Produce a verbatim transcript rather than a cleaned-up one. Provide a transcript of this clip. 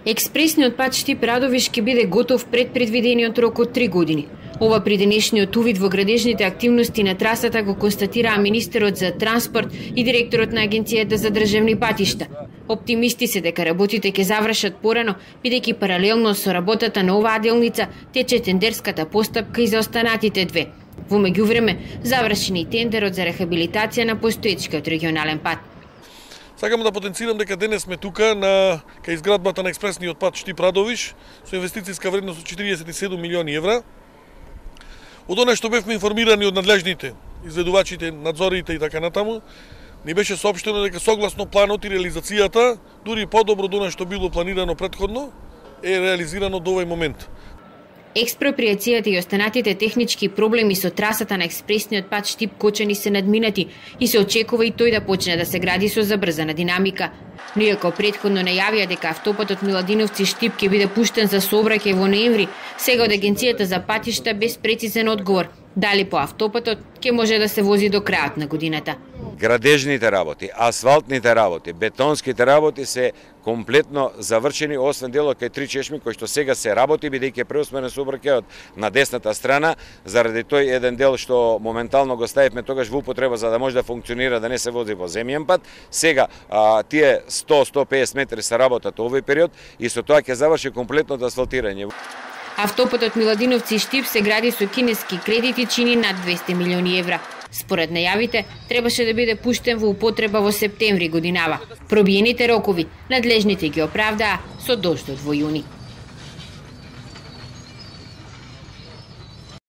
Експресниот пат Штип-Радовиш ќе биде готов пред предвидениот рок од три години. Ова при денешниот увид во градежните активности на трасата го констатираа министерот за транспорт и директорот на Агенцијата за државни патишта. Оптимисти се дека работите ќе завршат порано, бидејќи паралелно со работата на оваа делница тече тендерската постапка и за останатите две. Во меѓувреме, завршен и тендерот за рехабилитација на постоечкиот регионален пат. Сакам да потенцирам дека денес сме тука на кај изградбата на експресниот пат Штип-Радовиш со инвестицијска вредност од четириесет и седум милиони евра. Од она што бевме информирани од надлежните, изведувачите, надзорите и така натаму, ни беше соопштено дека согласно планот и реализацијата, дури подобро од она што било планирано претходно, е реализирано до овој момент. Експроприацијата и останатите технички проблеми со трасата на експресниот пат Штип-Кочани се надминати и се очекува и тој да почне да се гради со забрзана динамика. Но иако претходно најавија дека автопатот Миладиновци-Штип ќе биде пуштен за сообраќај во ноември, сега од Агенцијата за патишта без прецизен одговор дали по автопатот ќе може да се вози до крајот на годината. Градежните работи, асфалтните работи, бетонските работи се комплетно завршени, освен делот кај Три чешми кој што сега се работи, бидејќи преусмерен сообраќајот на десната страна, заради тој еден дел што моментално го ставивме тогаш во употреба за да може да функционира, да не се вози во земјен пат. Сега а, тие сто до сто и песет метри се работат овој период и со тоа ќе заврши комплетното асфалтирање. Автопатот Миладиновци-Штип се гради со кинески кредит и чини над двесте милиони евра. Според најавите, требаше да биде пуштен во употреба во септември годинава. Пробиените рокови надлежните ги оправдаа со доштот во јуни.